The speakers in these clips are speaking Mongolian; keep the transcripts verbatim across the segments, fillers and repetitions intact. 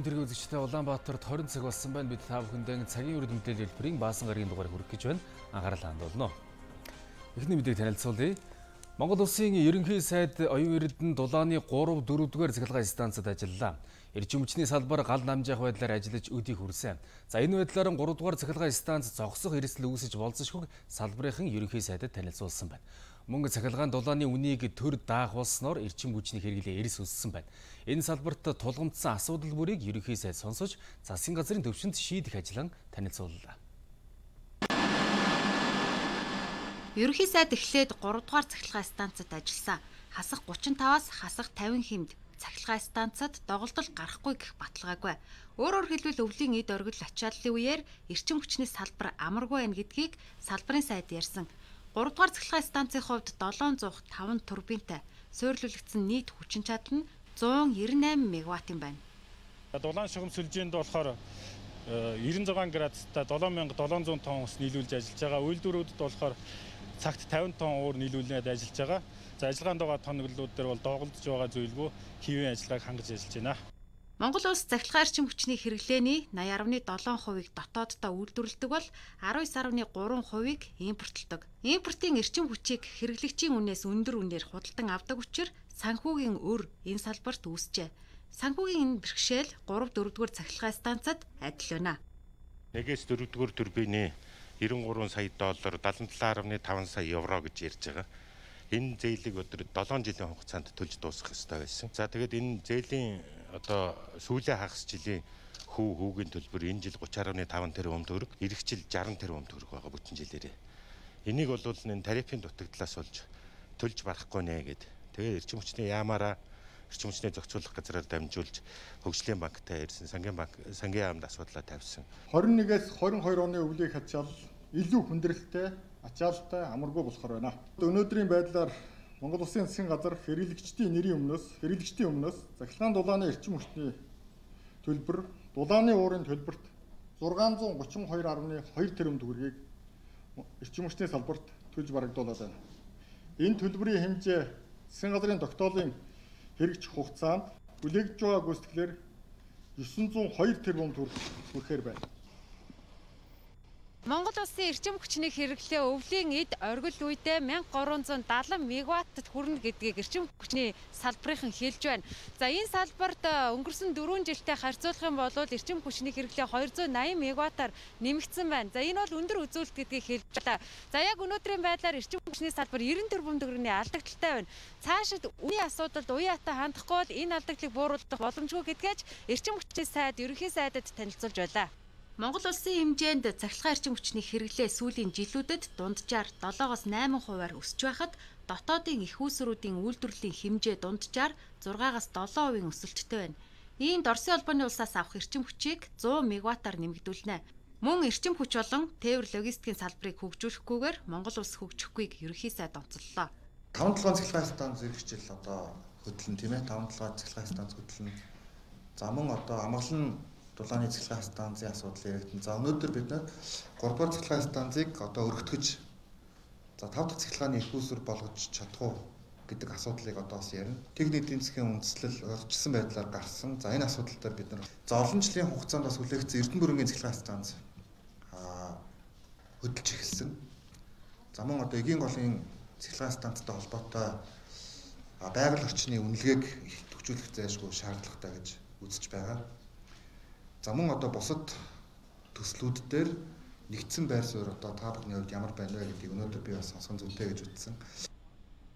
тэргийн үзэгчтэй Улаанбаатарт хорин цаг болсон байна. Бид та бүхэндээ цагийн үр мэдээлэл хэлбэрийн баасан гарагийн дугаар хүргэх гэж байна. Анхаарал хандуулно. Эхний мэдээг танилцуулъя. Монгол Улсын ерөнхий сайд оюун эрдэнэ дулааны гурав дөрөвдүгээр цахилгаан станцад ажиллалаа. Эрчим хүчний салбар гал намжаах байдлаар ажиллаж өдийг хүрсэн. За энэ байдлаар гуравдугаар цахилгаан станц зогсох эрсдэл үүсэж болзошгүй салбарын ерөнхий сайдад танилцуулсан байна. Мөн цахилгаан дулааны үнийг төр даах болсноор эрчим хүчний хэрэглээ эрс өссөн байна. Энэ салбарт тулгамдсан асуудал бүрийг ерөнхий сайд сонсож, засгийн газрын төвшөнд шийдэх ажлан танилцууллаа. Ерөнхий сайд эхлээд гурав дугаар цахилгаан станцад ажилласан. Хасах гучин таваас хасах тавин хэмд цахилгаан станцад доголдол гарахгүй гэх баталгаагүй. Өөрөөр хэлбэл өвлийн эд оргил ачааллын үеэр эрчим хүчний салбар амаргүй байна гэдгийг салбарын сайд ярьсан. гурав дугаар цахилгаан станцын хувьд долоон зуун таван турбинтай суйрлуулагдсан нийт хүчин чадал нь зуун девять восемь мегаваттын байна. Дулаан шугам сүлжээнд болохоор девяносто шесть градустай seven thousand seven hundred тонн ус нийлүүлж ажиллаж байгаа. Үйлдвэрүүдэд болохоор цагт fifty тонн уур нийлүүлээд ажиллаж байгаа. За ажиллагаанд байгаа тоноглолууд дээр бол доголдож байгаа зүйлгүй хэвийн ажиллагааг хангаж ажиллаж байна. Монгол улс цахилгаан эрчим хүчний хэрэглээний eighty point seven хувийг дотооддоо үйлдвэрлэдэг бол nineteen point three хувийг импортлдог. Импортын эрчим хүчийг хэрэглэгчийн үнээс өндөр үнээр худалдан авдаг учраас санхүүгийн өр энэ салбарт үүсжээ. Санхүүгийн энэ бэрхшээл three дөрөвдүгээр цахилгаан станцад адил байна. Нэгээс дөрөвдүгээр турбины ninety-three сая доллар seventy-seven point five сая евро гэж ярьж байгаа. Энэ зээлийг өдөр seven жилийн хугацаанд төлж дуусгах ёстой байсан. За тэгээд энэ зээлийн одоо сүүлийн хагас жилийн хүү хүүгийн төлбөр энэ жил thirty point five тэрбум төгрөг, эх жил sixty тэрбум төгрөг байгаа бүтэн жилээрээ. Энийг бол энэ тарифын дутагдлаас болж төлж барахгүй нэ гэд. Тэгээд эрчим хүчний яамаараа эрчим хүчний зохицуулах газраар дамжуулж хөгжлийн банктай ирсэн сангийн банк сангийн яамд асуудлаа тавьсан. twenty-one-ээс twenty-two оны өвлийн ачаал илүү хүндрэлтэй, ачаалтай, амаргүй болохоор байна. Өнөөдрийн байдлаар Монгол Улсын засгийн газар хэрэглэгчдийн нэрийн өмнөөс, хэрэглэгчдийн өмнөөс цахилгаан дулааны эрчим хүчний төлбөр, дулааны уурын төлбөрт six hundred thirty-two point two тэрбум төгрөгийг эрчим хүчний салбарт төлж барагдуулаад байна. Энэ төлбөрийн хэмжээ засгийн газрын тогтоолын хэрэгжих хугацаанд бүлэгдэж байгаа гүйцэтгэлээр nine hundred two тэрбум төгрөг хүрэхээр байна. Монгол улсын эрчим хүчний хэрэглээ өвлийн эд оргил үедээ thirteen seventy мегаваттад хүрнэ гэдгийг эрчим хүчний салбарын хэлж байна. За энэ салбарт өнгөрсөн four жилдээ харьцуулах юм бол эрчим хүчний хэрэглээ two hundred eighty мегаваттаар нэмэгдсэн байна. За энэ бол өндөр үзүүлэлт гэдгийг хэлж байна. За яг өнөөдрийн байдлаар эрчим хүчний салбар ninety тэрбум төгрөгийн алдагдaltaй байна. Цаашид үеийн асуудалд уяатай хандахгүй бол энэ алдагдлыг бууруулах боломжгүй гэдгээч эрчим хүчний сайд ерөнхий сайдад танилцуулж байлаа. Монгол улсын хэмжээнд цахилгаан эрчим хүчний хэрэглээ сүүлийн жилүүдэд дунджаар seven-аас eight хувиар өсөж байхад дотоодын их үүсвэрүүдийн үйлдвэрлэлийн хэмжээ дунджаар six-аас seven хувийн өсөлттэй байна. Иймд Оросын улбаны улсаас авах эрчим хүчийг one hundred мегаваттаар нэмэгдүүлнэ. Мөн эрчим хүч болон тээвэр логистикийн салбарыг хөгжүүлэхгүйгээр Монгол улс хөгжихгүй ерөнхий сайд онцоллоо. five seven цахилгаан станц зэрэгчил одоо хөдлөн тийм ээ five seven цахилгаан станц хөдлөн. За мөн одоо амгалан дулааны цахилгаан станцын асуудал яригдсан. За өнөөдөр бид нэр three дугаар цахилгаан станцыг одоо өргөтгөж за five дахь цахилгааны их үүсвэр болгож чадах уу гэдэг асуудлыг одоо бас ярина. Техник эдийн засгийн үндэслэл урьдчилсан байдлаар гарсан. За энэ асуудал дээр бид нар за олон жилийн хугацаанд бас хүлээгдсэн Эрдэнэ бүрэнгийн цахилгаан станц аа хөдөлж эхэлсэн. За мөн одоо эгийн голын цахилгаан станцтай холбоотой байгаль орчны үнэлгээг төвчүүлэх зайлшгүй шаардлагатай гэж үзэж байгаа. За мөн одоо бусад төслүүд дээр нэгдсэн байр суурь одоо та бүхний хувьд ямар байна вэ гэдгийг өнөөдөр би бас сонсгон зүйтэй гэж үзсэн.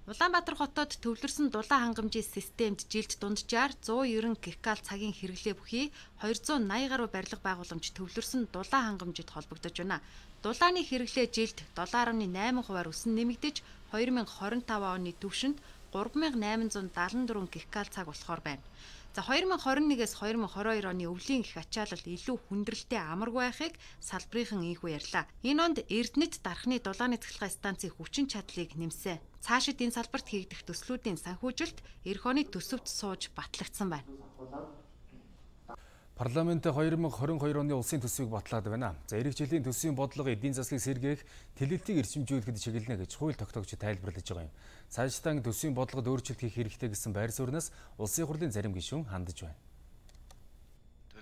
Улаанбаатар хотод төвлөрсөн дулаан хангамжийн системд жилд дунджаар one ninety гикал цагийн хэрэглээ бүхий two eighty гаруй барилга байгууламж төвлөрсөн дулаан хангамжид холбогдож байна. Дулааны хэрэглээ жилд seven point eight хувиар өсөн нэмэгдэж twenty twenty-five оны төвшөнд three thousand eight hundred seventy-four гикал цаг болохоор байна. За twenty twenty-one-ээс twenty twenty-two оны өвлийн их ачаалал илүү хүндрэлтэй амаргүй байхыг салбарынхан ийхүү ярьлаа. Энэ онд Эрдэнэт дархны дулааны цахилгаан станцын хүчин чадлыг нэмсэн. Цаашид энэ салбарт хийгдэх төслүүдийн санхүүжилт эх оны төсөвт сууж батлагдсан байна. Парламент twenty twenty-two оны улсын төсвийг батлаад байна. За эх жилийн төсвийн бодлого эдийн засгийг сэргээх, тэлэлтийг эрчимжүүлэхэд чиглэнэ гэж хууль тогтоогч тайлбарлаж байгаа юм. Цаашдаа төсвийн бодлогод өөрчлөлт хийх хэрэгтэй гэсэн байр сууриас улсын хурлын зарим гишүүн хандаж байна.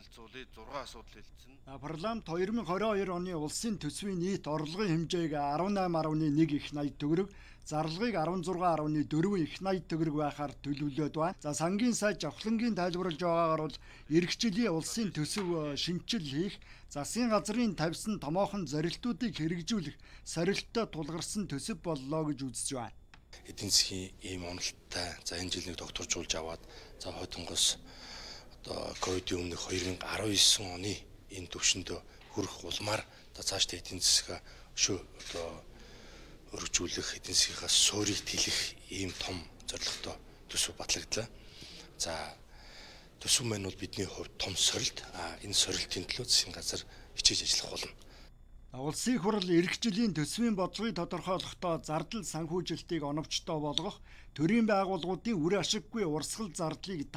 танилцуулъя. зургаан асуудал хэлсэн. Парламент хоёр мың двадцать хоёр оны улсын төсвийн нийт орлогын хэмжээг арван айман гаруй нэг их найд төгрөг, зарлагыг арван зургаан гаруй дөрвөн их найд төгрөг байхаар төлөвлөд байна. За сангийн сайд жавхлангийн тайлбарлаж байгаагаар бол эх жилийн улсын төсөв шинжил хийх, засгийн газрын тавьсан томоохон зорилтуудыг хэрэгжүүлэх сорилттой тулгарсан төсөв боллоо гэж үзэж байна. Эдийн засгийн ийм уналттай за энэ жил нэг докторжуулж аваад за хойдонгоос одоо ковидын өмнөх хоёр мың арван девять оны энэ төвшөнд хүрэх улмаар за цаашдаа эдийн засгаа өшөө одоо өргөжүүлэх, эдийн засгийнхаа суурийг тэлэх ийм том зорилготой төсөв батлагдлаа. За төсөв маань бол бидний хувьд том сорилт. А энэ сорилтын төлөө засгийн газар хичээж ажиллах болно. Улсын их хурл эх жилийн төсвийн бодлогыг тодорхойлохдоо зардал санхүүжилтийг оновчтой болгох, төрийн байгууллагуудын үр ашиггүй урсгал зардлыг